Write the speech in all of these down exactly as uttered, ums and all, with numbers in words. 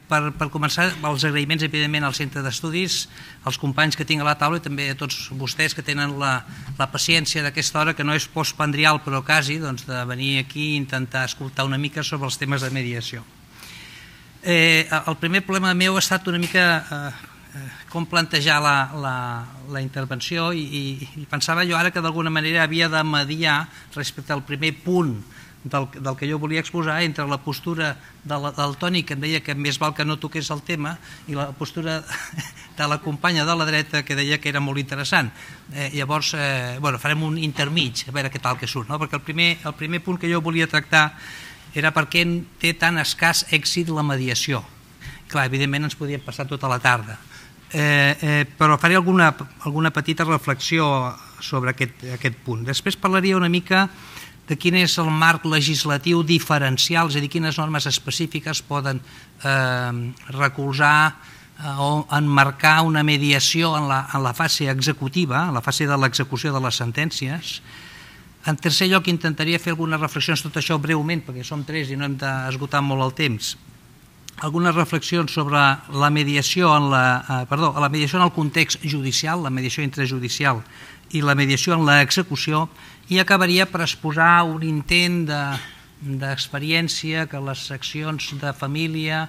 per començar, els agraïments, evidentment, al Centre d'Estudis, als companys que tinc a la taula i també a tots vostès que tenen la paciència d'aquesta hora, que no és postpandrial, però quasi, de venir aquí i intentar escoltar una mica sobre els temes de mediació. El primer problema meu ha estat una mica com plantejar la intervenció i pensava jo ara que d'alguna manera havia de mediar respecte al primer punt del que jo volia exposar entre la postura del Toni, que em deia que més val que no toqués el tema, i la postura de la companya de la dreta, que deia que era molt interessant. Llavors, farem un intermig, a veure què tal que surt, perquè el primer punt que jo volia tractar era per què té tan escàs èxit la mediació. Clar, evidentment ens podíem passar tota la tarda, però faré alguna petita reflexió sobre aquest punt. Després parlaria una mica de quin és el marc legislatiu diferencial, és a dir, quines normes específiques poden recolzar o enmarcar una mediació en la fase executiva, en la fase de l'execució de les sentències. En tercer lloc, intentaria fer algunes reflexions, tot això breument, perquè som tres i no hem d'esgotar molt el temps, algunes reflexions sobre la mediació en perdó, la mediació en el context judicial, la mediació intrajudicial i la mediació en l'execució, i acabaria per exposar un intent d'experiència que les seccions de família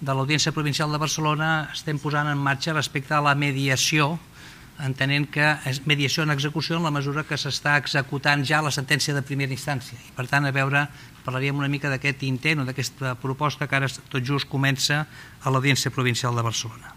de l'Audiència Provincial de Barcelona estem posant en marxa respecte a la mediació, entenent que és mediació en execució en la mesura que s'està executant ja la sentència de primera instància. I per tant, a veure, parlaríem una mica d'aquest intent o d'aquesta proposta que ara tot just comença a l'Audiència Provincial de Barcelona.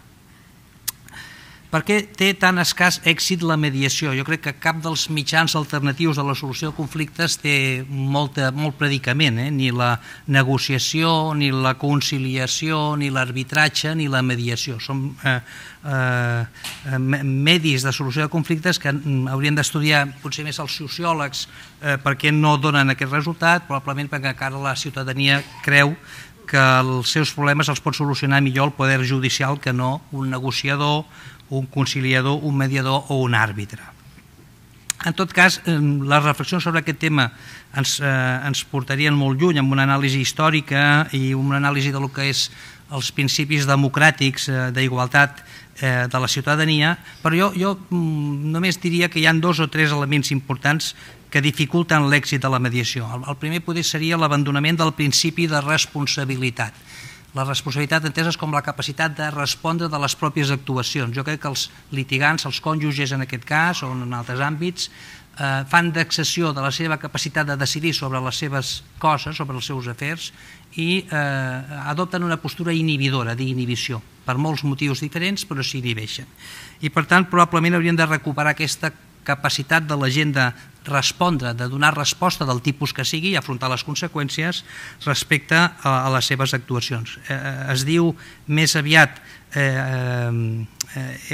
Per què té tan escàs èxit la mediació? Jo crec que cap dels mitjans alternatius de la solució de conflictes té molt predicament, ni la negociació, ni la conciliació, ni l'arbitratge, ni la mediació. Són medis de solució de conflictes que haurien d'estudiar potser més els sociòlegs per què no donen aquest resultat, probablement perquè encara la ciutadania creu que els seus problemes els pot solucionar millor el poder judicial que no un negociador, un conciliador, un mediador o un àrbitre. En tot cas, les reflexions sobre aquest tema ens portarien molt lluny amb una anàlisi històrica i una anàlisi del que és els principis democràtics d'igualtat de la ciutadania, però jo només diria que hi ha dos o tres elements importants que dificulten l'èxit de la mediació. El primer poder seria l'abandonament del principi de responsabilitat. La responsabilitat entesa com la capacitat de respondre de les pròpies actuacions. Jo crec que els litigants, els cònjuges en aquest cas o en altres àmbits, fan d'excessió de la seva capacitat de decidir sobre les seves coses, sobre els seus afers, i adopten una postura inhibidora, d'inhibició, per molts motius diferents, però s'inhibeixen. I per tant, probablement haurien de recuperar aquesta capacitat de la gent de respondre, de donar resposta del tipus que sigui i afrontar les conseqüències respecte a les seves actuacions. Es diu més aviat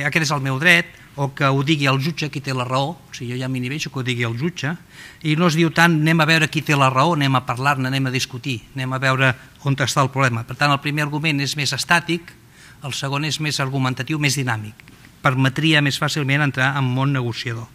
aquest és el meu dret, o que ho digui el jutge qui té la raó, o sigui, jo ja m'inhibeixo que ho digui el jutge, i no es diu tant anem a veure qui té la raó, anem a parlar-ne, anem a discutir, anem a veure on està el problema. Per tant, el primer argument és més estàtic, el segon és més argumentatiu, més dinàmic. Permetria més fàcilment entrar en món negociador.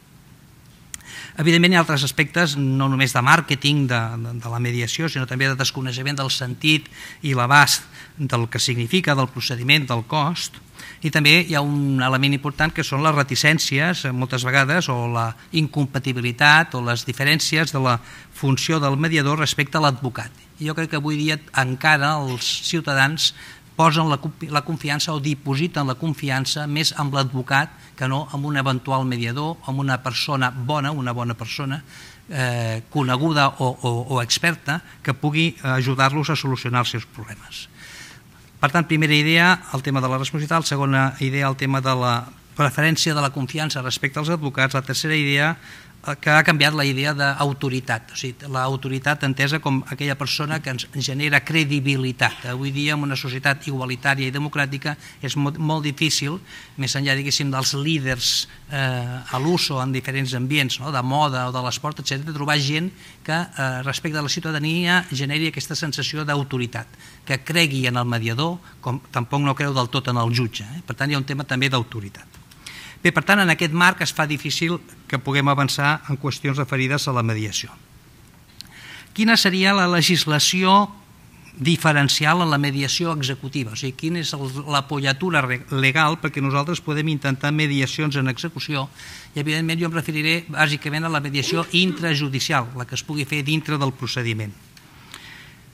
Evidentment hi ha altres aspectes, no només de màrqueting de la mediació, sinó també de desconeixement del sentit i l'abast del que significa, del procediment, del cost, i també hi ha un element important que són les reticències, moltes vegades, o la incompatibilitat o les diferències de la funció del mediador respecte a l'advocat. Jo crec que avui dia encara els ciutadans posen la confiança o dipositen la confiança més amb l'advocat que no amb un eventual mediador, amb una persona bona, una bona persona coneguda o experta que pugui ajudar-los a solucionar els seus problemes. Per tant, primera idea, el tema de la responsabilitat, segona idea, el tema de la preferència de la confiança respecte als advocats, la tercera idea, que ha canviat la idea d'autoritat, o sigui, l'autoritat entesa com aquella persona que ens genera credibilitat. Avui dia, en una societat igualitària i democràtica, és molt difícil, més enllà, diguéssim, dels líders a l'uso en diferents ambients, de moda o de l'esport, etcètera, trobar gent que, respecte a la ciutadania, generi aquesta sensació d'autoritat, que cregui en el mediador, com tampoc no creu del tot en el jutge. Per tant, hi ha un tema també d'autoritat. Bé, per tant, en aquest marc es fa difícil que puguem avançar en qüestions referides a la mediació. Quina seria la legislació diferencial en la mediació executiva, o sigui, quina és l'apoyatura legal perquè nosaltres podem intentar mediacions en execució i evidentment jo em referiré bàsicament a la mediació intrajudicial, la que es pugui fer dintre del procediment.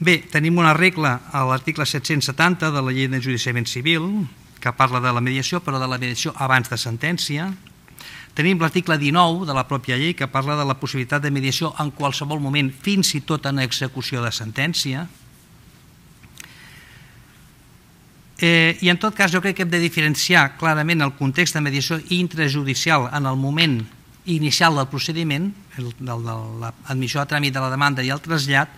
Bé, tenim una regla a l'article set-cents setanta de la llei d'enjudiciament civil que parla de la mediació, però de la mediació abans de sentència. Tenim l'article dinou de la pròpia llei que parla de la possibilitat de mediació en qualsevol moment, fins i tot en execució de sentència. Eh, I en tot cas jo crec que hem de diferenciar clarament el context de mediació intrajudicial en el moment inicial del procediment, el, de l'admissió a tràmit de la demanda i el trasllat,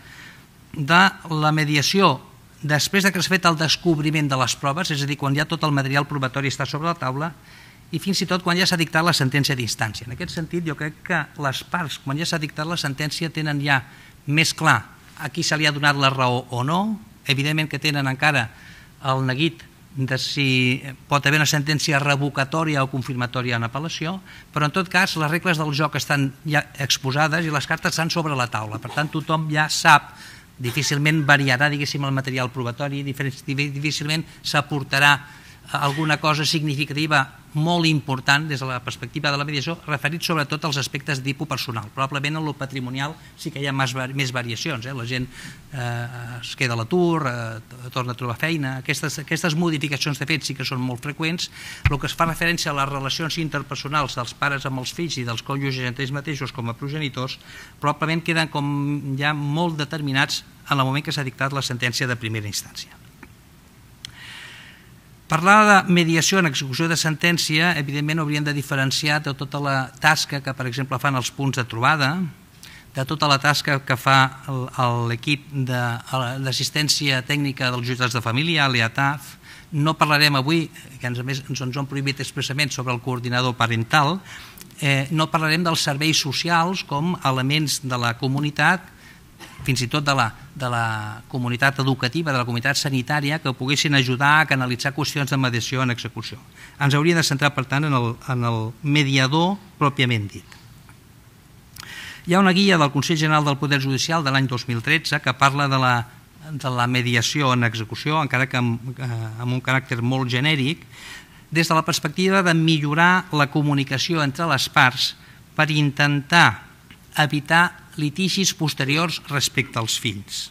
de la mediació després que s'ha fet el descobriment de les proves, és a dir, quan ja tot el material probatori està sobre la taula, i fins i tot quan ja s'ha dictat la sentència d'instància. En aquest sentit, jo crec que les parts, quan ja s'ha dictat la sentència, tenen ja més clar a qui se li ha donat la raó o no, evidentment que tenen encara el neguit de si pot haver una sentència revocatòria o confirmatòria en apel·lació, però en tot cas les regles del joc estan ja exposades i les cartes estan sobre la taula. Per tant, tothom ja sap, difícilment variarà, diguéssim, el material probatori, difícilment s'aportarà alguna cosa significativa molt important des de la perspectiva de la mediació, referit sobretot als aspectes de tipus personal. Probablement en el patrimonial sí que hi ha més, més variacions, eh? La gent eh, es queda a l'atur, eh, torna a trobar feina, aquestes, aquestes modificacions de fet sí que són molt freqüents. El que es fa referència a les relacions interpersonals dels pares amb els fills i dels cònjuges entre ells mateixos com a progenitors, probablement queden com ja molt determinats en el moment que s'ha dictat la sentència de primera instància. Parlar de mediació en execució de sentència, evidentment hauríem de diferenciar de tota la tasca que, per exemple, fan els punts de trobada, de tota la tasca que fa l'equip d'assistència tècnica dels jutjats de família, l'E A T A F. No parlarem avui, que a més ens ho han prohibit expressament, sobre el coordinador parental, no parlarem dels serveis socials com elements de la comunitat, fins i tot de la, de la comunitat educativa, de la comunitat sanitària, que poguessin ajudar a canalitzar qüestions de mediació en execució. Ens hauríem de centrar, per tant, en el, en el mediador pròpiament dit. Hi ha una guia del Consell General del Poder Judicial de l'any dos mil tretze que parla de la, de la mediació en execució, encara que amb, amb un caràcter molt genèric, des de la perspectiva de millorar la comunicació entre les parts per intentar evitar litigis posteriors respecte als fills.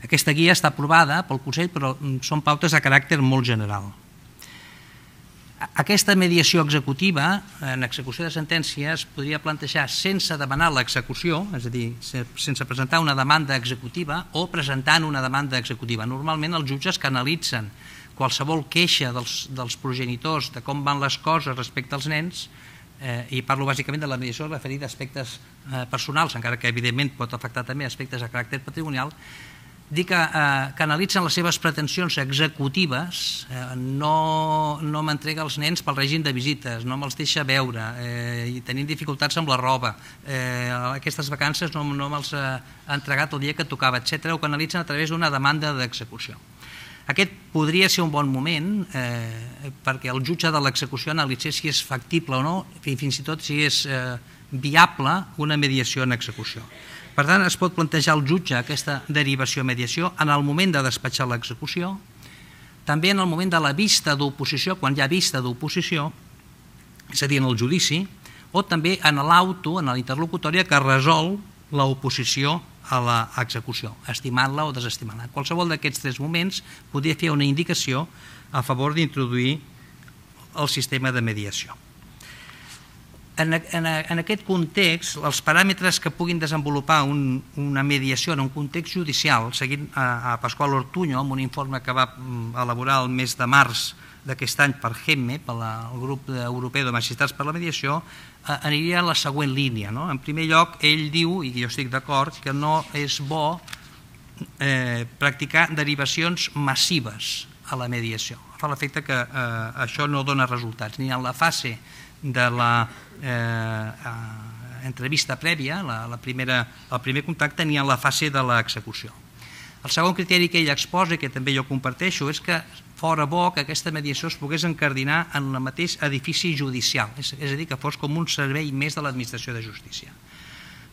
Aquesta guia està aprovada pel Consell, però són pautes de caràcter molt general. Aquesta mediació executiva, en execució de sentència, es podria plantejar sense demanar l'execució, és a dir, sense presentar una demanda executiva o presentant una demanda executiva. Normalment els jutges canalitzen qualsevol queixa dels, dels progenitors de com van les coses respecte als nens, Eh, i parlo bàsicament de la mediació referida a aspectes eh, personals, encara que evidentment pot afectar també aspectes de caràcter patrimonial, dir que eh, canalitzen les seves pretensions executives, eh, no, no m'entrega els nens pel règim de visites, no me'ls deixa veure, eh, i tenim dificultats amb la roba, eh, aquestes vacances no, no me'ls ha entregat el dia que tocava, etcètera, ho canalitzen a través d'una demanda d'execució. Aquest podria ser un bon moment eh, perquè el jutge de l'execució analitzés si és factible o no i fins i tot si és eh, viable una mediació en execució. Per tant, es pot plantejar al jutge aquesta derivació-mediació en el moment de despatxar l'execució, també en el moment de la vista d'oposició, quan hi ha vista d'oposició, és a dir, en el judici, o també en l'auto, en la interlocutòria que resol l'oposició a l'execució, estimant-la o desestimant-la. Qualsevol d'aquests tres moments podria fer una indicació a favor d'introduir el sistema de mediació. En, en, en aquest context, els paràmetres que puguin desenvolupar un, una mediació en un context judicial, seguint a, a Pasqual Ortuño, amb un informe que va elaborar el mes de març d'aquest any per GEMME, pel grup europeu de magistrats per la mediació, aniria en la següent línia. No? En primer lloc, ell diu, i jo estic d'acord, que no és bo eh, practicar derivacions massives a la mediació. Fa l'efecte que eh, això no dona resultats, ni en la fase de la eh, entrevista prèvia, la, la primera, el primer contacte, ni en la fase de l'execució. El segon criteri que ell exposa, que també jo comparteixo, és que fora bo que aquesta mediació es pogués encardinar en el mateix edifici judicial, és, és a dir, que fos com un servei més de l'administració de justícia.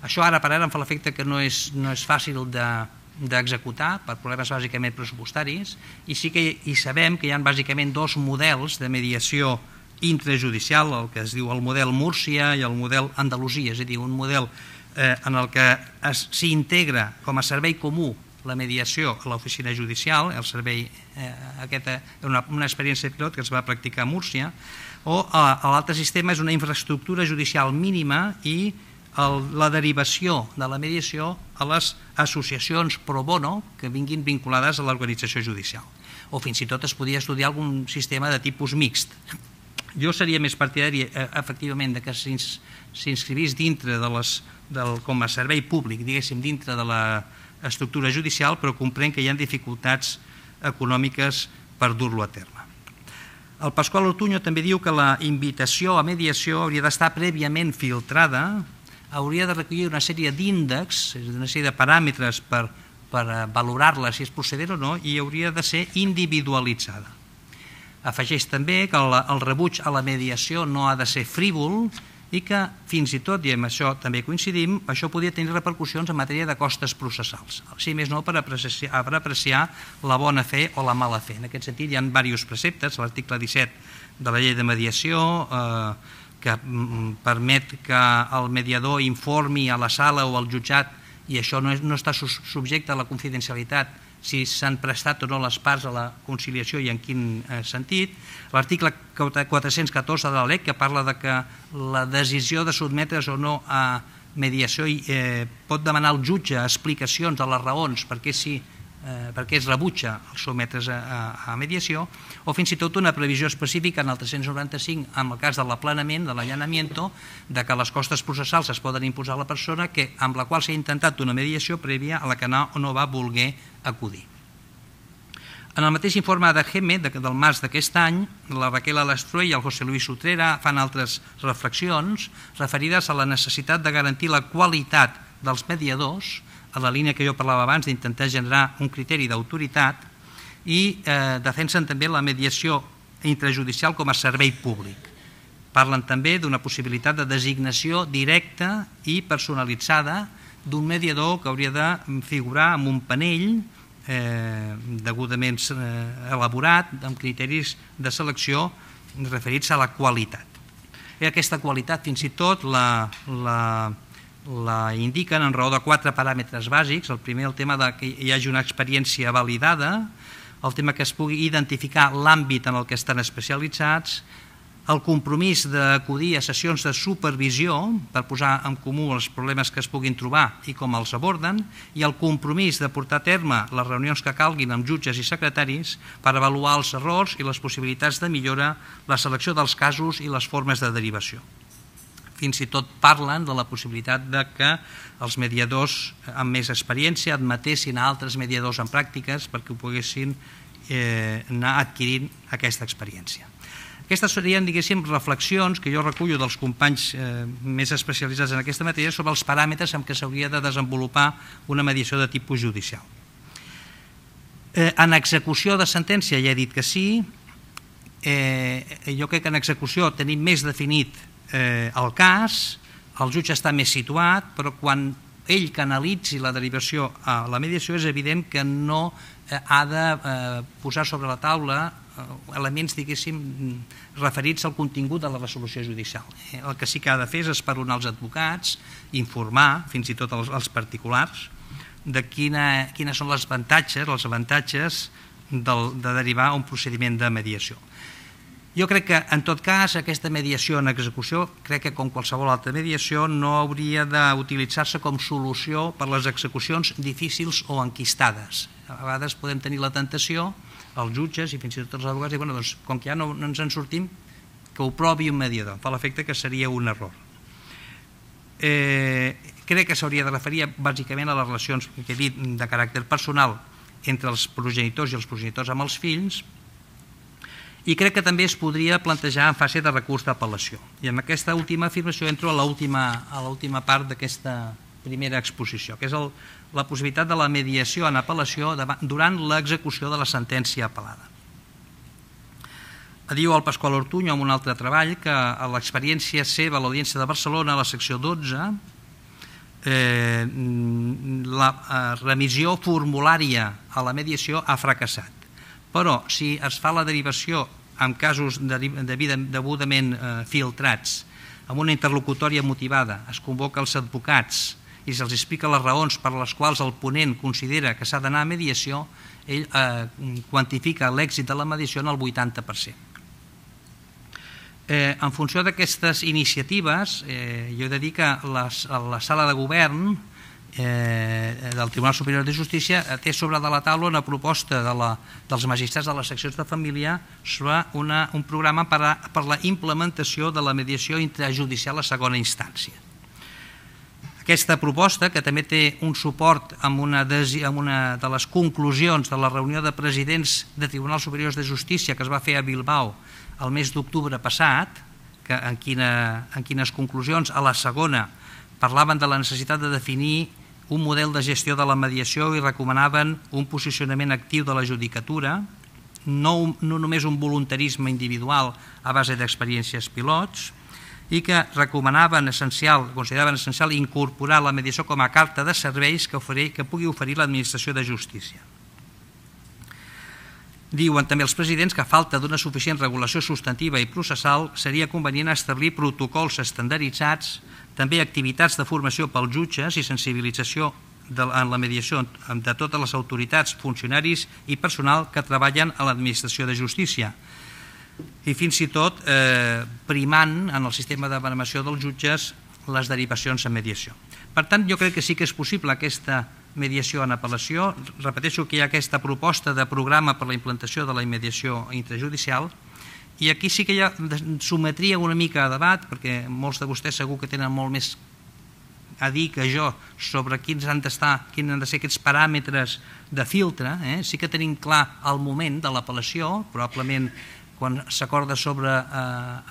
Això ara per ara em fa l'efecte que no és, no és fàcil de, d'executar per problemes bàsicament pressupostaris, i sí que hi sabem que hi ha bàsicament dos models de mediació intrajudicial, el que es diu el model Múrcia i el model Andalusia, és a dir, un model eh, en el que s'integra com a servei comú la mediació a l'oficina judicial, el servei, eh, aquesta, una, una experiència pilot que es va practicar a Múrcia, o l'altre sistema és una infraestructura judicial mínima i el, la derivació de la mediació a les associacions pro bono que vinguin vinculades a l'organització judicial. O fins i tot es podia estudiar algun sistema de tipus mixt. Jo seria més partidari, eh, efectivament, de que s'inscrivís dintre de les, del, com a servei públic, diguéssim, dintre de l'estructura judicial, però comprenc que hi ha dificultats econòmiques per dur-lo a terme. El Pasqual Ortuño també diu que la invitació a mediació hauria d'estar prèviament filtrada, hauria de recollir una sèrie d'índexs, una sèrie de paràmetres per, per valorar-la si és procedent o no, i hauria de ser individualitzada. Afegeix també que el, el rebuig a la mediació no ha de ser frívol i que fins i tot, i amb això també coincidim, això podria tenir repercussions en matèria de costes processals, si més no per apreciar, per apreciar la bona fe o la mala fe. En aquest sentit hi ha diversos preceptes, l'article disset de la llei de mediació, eh, que permet que el mediador informi a la sala o al jutjat, i això no, és, no està subjecte a la confidencialitat, si s'han prestat o no les parts a la conciliació i en quin eh, sentit. L'article quatre-cents catorze de la L E C, que parla de que la decisió de sotmetre's o no a mediació eh, pot demanar al jutge explicacions de les raons perquè si eh, perquè es rebutja el sotmetre's a, a, a mediació, o fins i tot una previsió específica en el tres-cents noranta-cinc en el cas de l'aplanament, de l'allanamiento, de que les costes processals es poden imposar a la persona que, amb la qual s'ha intentat una mediació prèvia a la que no, no va voler acudir. En el mateix informe de G E M E del març d'aquest any, la Raquel Alastrue i el José Luis Utrera fan altres reflexions referides a la necessitat de garantir la qualitat dels mediadors, a la línia que jo parlava abans d'intentar generar un criteri d'autoritat, i eh, defensen també la mediació intrajudicial com a servei públic. Parlen també d'una possibilitat de designació directa i personalitzada d'un mediador que hauria de figurar en un panell eh, degudament eh, elaborat amb criteris de selecció referits a la qualitat. I aquesta qualitat fins i tot la, la, la indiquen en raó de quatre paràmetres bàsics. El primer, el tema de que hi hagi una experiència validada, el tema que es pugui identificar l'àmbit en el que estan especialitzats, el compromís d'acudir a sessions de supervisió per posar en comú els problemes que es puguin trobar i com els aborden, i el compromís de portar a terme les reunions que calguin amb jutges i secretaris per avaluar els errors i les possibilitats de millora, la selecció dels casos i les formes de derivació. Fins i tot parlen de la possibilitat de que els mediadors amb més experiència admetessin a altres mediadors en pràctiques perquè ho poguessin eh, anar adquirint aquesta experiència. Aquestes serien, diguéssim, reflexions que jo recullo dels companys eh, més especialitzats en aquesta matèria sobre els paràmetres amb què s'hauria de desenvolupar una mediació de tipus judicial. Eh, en execució de sentència ja he dit que sí. Eh, jo crec que en execució tenim més definit eh, el cas, el jutge està més situat, però quan ell canalitzi la derivació a la mediació és evident que no eh, ha de eh, posar sobre la taula elements, diguéssim, referits al contingut de la resolució judicial. El que sí que ha de fer és esperonar els advocats, informar, fins i tot els, els particulars, de quina, quines són les avantatges, els avantatges del, de derivar a un procediment de mediació. Jo crec que, en tot cas, aquesta mediació en execució, crec que com qualsevol altra mediació, no hauria d'utilitzar-se com solució per les execucions difícils o enquistades. A vegades podem tenir la tentació, els jutges i fins i tot els advocats, i, bueno, doncs, com que ja no, no ens en sortim, que ho provi un mediador. Fa l'efecte que seria un error. Eh, crec que s'hauria de referir bàsicament a les relacions que he dit de caràcter personal entre els progenitors i els progenitors amb els fills, i crec que també es podria plantejar en fase de recurs d'apel·lació. I amb aquesta última afirmació entro a l'última part d'aquesta primera exposició, que és el, la possibilitat de la mediació en apel·lació durant l'execució de la sentència apel·lada. Diu el Pasqual Ortuño en un altre treball que a l'experiència seva a l'Audiència de Barcelona, a la secció dotze, la remissió formulària a la mediació ha fracassat. Però si es fa la derivació en casos degudament filtrats, amb una interlocutòria motivada, es convoca els advocats i se'ls explica les raons per les quals el ponent considera que s'ha d'anar a mediació, ell quantifica l'èxit de la mediació en el vuitanta per cent. En funció d'aquestes iniciatives, jo he de dir que la sala de govern del Tribunal Superior de Justícia té sobre de la taula una proposta dels magistrats de les seccions de família sobre un programa per a la implementació de la mediació intrajudicial a segona instància. Aquesta proposta, que també té un suport amb una de les conclusions de la reunió de presidents de Tribunals Superiors de Justícia que es va fer a Bilbao el mes d'octubre passat, en quines conclusions a la segona parlaven de la necessitat de definir un model de gestió de la mediació i recomanaven un posicionament actiu de la judicatura, no només un voluntarisme individual a base d'experiències pilots, i que recomanaven essencial, consideraven essencial incorporar la mediació com a carta de serveis que pugui oferir l'administració de justícia. Diuen també els presidents que a falta d'una suficient regulació substantiva i processal seria convenient establir protocols estandarditzats, també activitats de formació pels jutges i sensibilització en la mediació de totes les autoritats, funcionaris i personal que treballen a l'administració de justícia, i fins i tot primant en el sistema de baremació dels jutges les derivacions en mediació. Per tant, jo crec que sí que és possible aquesta mediació en apel·lació. Repeteixo que hi ha aquesta proposta de programa per la implantació de la mediació intrajudicial, i aquí sí que ja sometria una mica a debat, perquè molts de vostès segur que tenen molt més a dir que jo sobre quins han d'estar, quins han de ser aquests paràmetres de filtre. Sí que tenim clar el moment de l'apel·lació, probablement quan s'acorda sobre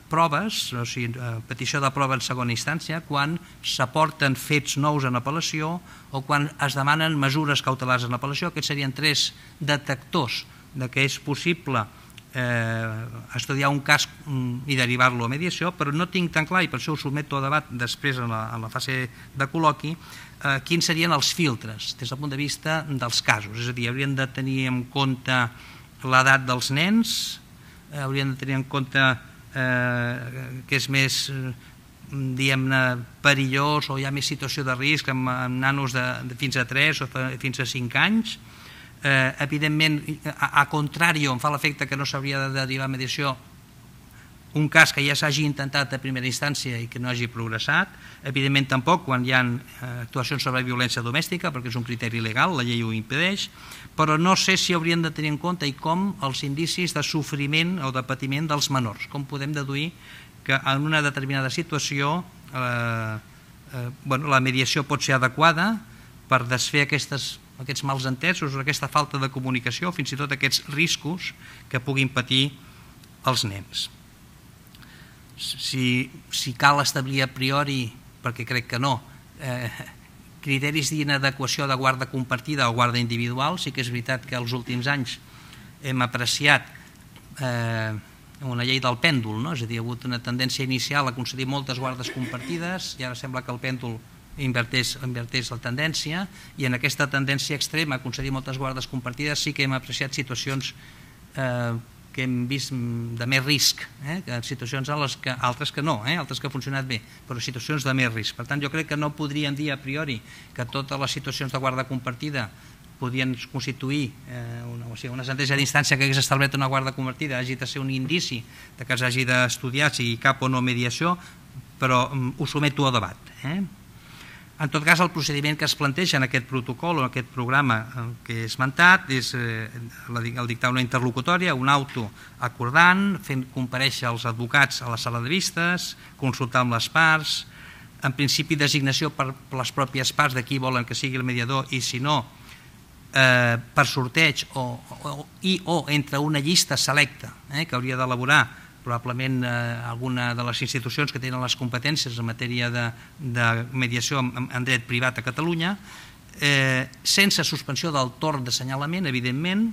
proves, o sigui, petició de prova en segona instància, quan s'aporten fets nous en apel·lació o quan es demanen mesures cautelars en apel·lació. Aquests serien tres detectors que és possible estudiar un cas i derivar-lo a mediació, però no tinc tan clar, i per això ho sotmeto a debat després en la fase de col·loqui, quins serien els filtres des del punt de vista dels casos. És a dir, hauríem de tenir en compte l'edat dels nens, hauríem de tenir en compte que és més, diguem-ne, perillós o hi ha més situació de risc amb nanos de fins a tres o fins a cinc anys. Evidentment, a contrari, em fa l'efecte que no s'hauria de derivar a mediació un cas que ja s'hagi intentat a primera instància i que no hagi progressat. Evidentment tampoc quan hi ha actuacions sobre violència domèstica, perquè és un criteri legal, la llei ho impedeix, però no sé si hauríem de tenir en compte i com els indicis de sofriment o de patiment dels menors. Com podem deduir que en una determinada situació la mediació pot ser adequada per desfer aquests mals entesos o aquesta falta de comunicació, fins i tot aquests riscos que puguin patir els nens. Si cal establir a priori, perquè crec que no, criteris d'inadequació de guarda compartida o guarda individual, sí que és veritat que els últims anys hem apreciat una llei del pèndol, és a dir, hi ha hagut una tendència inicial a concedir moltes guardes compartides i ara sembla que el pèndol inverteix la tendència, i en aquesta tendència extrema a concedir moltes guardes compartides sí que hem apreciat situacions que hem vist de més risc, situacions altres que no, altres que han funcionat bé, però situacions de més risc. Per tant, jo crec que no podríem dir a priori que totes les situacions de guarda compartida podien constituir una sentència d'instància que hagués establert una guarda compartida, hagi de ser un indici que s'hagi d'estudiar si cap o no mediació, però ho someto a debat. En tot cas, el procediment que es planteja en aquest protocol o en aquest programa que he esmentat és el dictar una interlocutòria, un auto acordant, fent comparèixer els advocats a la sala de vistes, consultar amb les parts, en principi designació per les pròpies parts de qui volen que sigui el mediador i si no, per sorteig i o entre una llista selecta que hauria d'elaborar probablement alguna de les institucions que tenen les competències en matèria de mediació en dret privat a Catalunya, sense suspensió del torn d'assenyalament, evidentment,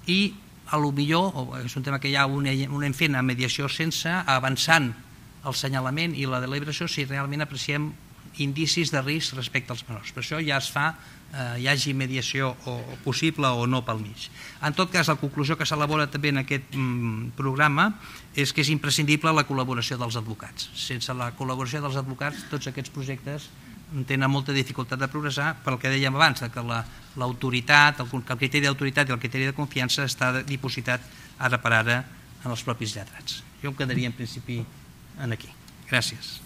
i potser, és un tema que ja ho anem fent a mediació sense, avançant el assenyalament i la deliberació si realment apreciem indicis de risc respecte als menors. Per això ja es fa, eh, hi hagi mediació o possible o no pel mig. En tot cas, la conclusió que s'elabora també en aquest mm, programa és que és imprescindible la col·laboració dels advocats. Sense la col·laboració dels advocats, tots aquests projectes tenen molta dificultat de progressar pel que dèiem abans, que l'autoritat, el criteri d'autoritat i el criteri de confiança està dipositat ara per ara en els propis lletrats. Jo em quedaria en principi en aquí. Gràcies.